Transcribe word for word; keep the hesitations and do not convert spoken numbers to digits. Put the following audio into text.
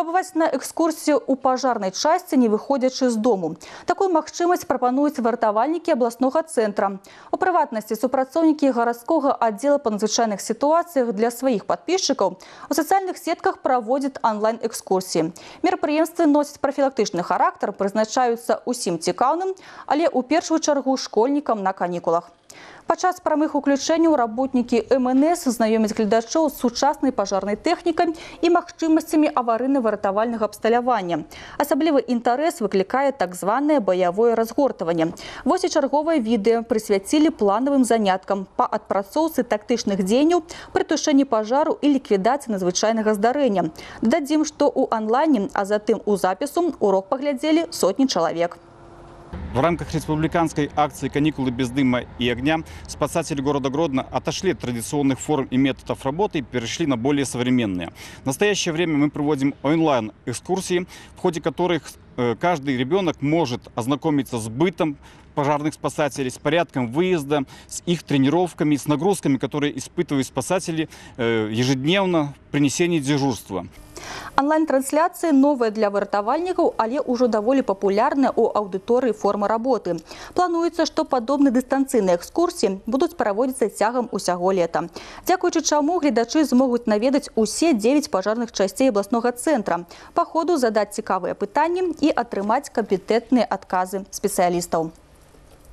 Пабываць на экскурсію ў пажарнай часці, не выходзячы з дому. Такую магчымасць прапануюць вартавальнікі абласнога цэнтра. У прыватнасці супрацоўнікі гарадскога аддзела па надзвычайных сітуацыях для сваіх падпісчыкаў у сацыяльных сетках праводзяць онлайн-экскурсіі. Мерапрыемствы носяць прафілактычны характар, прызначаюцца ўсім цікаўным, але ў першую чаргу школьнікам на канікулах. Падчас прамых уключэнняў работнікі эм эн эс знаёмяць гледачоў з сучаснай пажарнай тэхнікай і магчымасцямі аварыйна-выратавальнага абсталявання. Асаблівы інтарэс выклікае так званае баявое разгортванне. Вось і чарговае відэо прысвяцілі планавым заняткам па адпрацоўцы тактычных дзеянняў пры тушэнні пажару і ліквідацыі надзвычайнага здарэння. Дадзім, што ў онлайне, а затым у запісу урок паглядзелі сотні чалавек. В рамках республиканской акции «Каникулы без дыма и огня» спасатели города Гродно отошли от традиционных форм и методов работы и перешли на более современные. В настоящее время мы проводим онлайн-экскурсии, в ходе которых каждый ребенок может ознакомиться с бытом пожарных спасателей, с порядком выезда, с их тренировками, с нагрузками, которые испытывают спасатели ежедневно при несении дежурства. Онлайн-трансляцыі новыя для выратавальнікаў, але ўжо даволі папулярныя ў аўдыторыі формы работы. Плануецца, што падобныя дыстанцыйныя экскурсіі будуць праводзіцца цягам усяго лета. Дзякуючы чаму гледачы змогуць наведаць усе дзевяць пажарных часцей абласнога цэнтра, па ходу задаць цікавыя пытанні і атрымаць кампетэнтныя адказы спецыялістаў.